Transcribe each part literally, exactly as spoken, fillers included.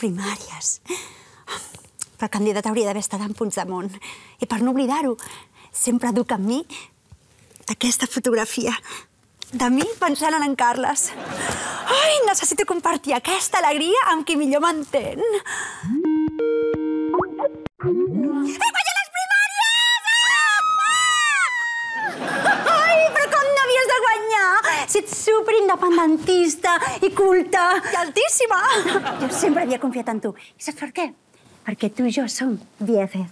primàries. Però el candidat hauria d'haver estat en Puigdemont. I per no oblidar-ho, sempre duc amb mi aquesta fotografia de mi pensant en en Carles. Ai, necessito compartir aquesta alegria amb qui millor m'entén. He guanyat les primàries! Ai, però com no havies de guanyar? Si ets superindependentista i culta i altíssima. Jo sempre havia confiat en tu. I saps per què? Perquè tu i jo som B F F.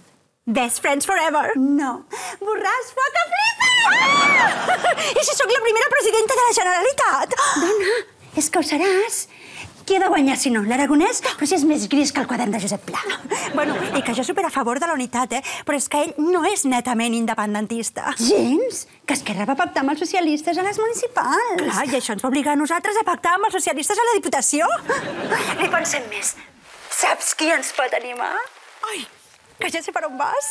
Best friends forever. No. Borràs, fa que flipes! I si sóc la primera presidenta de la Generalitat? Dona, és que ho seràs. Qui ha de guanyar, si no? L'Aragonès? Però si és més gris que el quadern de Josep Pla. Bueno, i que jo super a favor de la unitat, eh? Però és que ell no és netament independentista. Gens? Que Esquerra va pactar amb els socialistes a les municipals. Clar, i això ens va obligar a nosaltres a pactar amb els socialistes a la Diputació. Ni pensem més. Saps qui ens pot animar? Ai, que ja sé per on vas.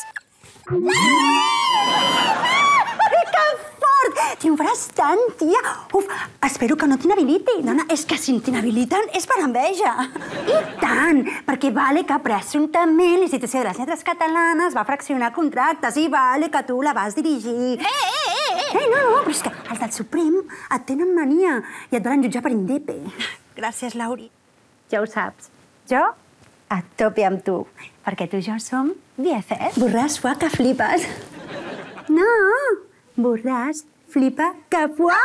Ai, que fort! Triomfaràs tant, tia. Uf, espero que no t'inhabiliti. Dona, és que si t'inhabiliten és per enveja. I tant, perquè vale que presumptament l'Institució de les Lletres Catalanes va fraccionar contractes i vale que tu la vas dirigir. Eh, eh, eh! Eh, no, no, però és que els del Suprem et tenen mania i et volen jutjar per indepe. Gràcies, Lauri. Ja ho saps. Jo a tope amb tu, perquè tu i jo som B F F. Borràs, fuà, que flipes. No, borràs, flipa, que fuà.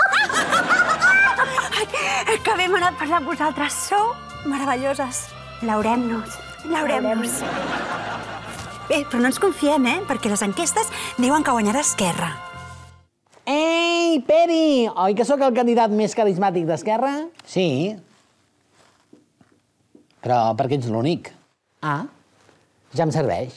Ai, que bé m'ha anat parlar amb vosaltres. Sou meravelloses. Laurem-nos. Laurem-nos. Bé, però no ens confiem, eh? Perquè les enquestes diuen que guanyarà Esquerra. Ei, Peri! Oi que sóc el candidat més carismàtic d'Esquerra? Sí. Però perquè ets l'únic. Ah, ja em serveix.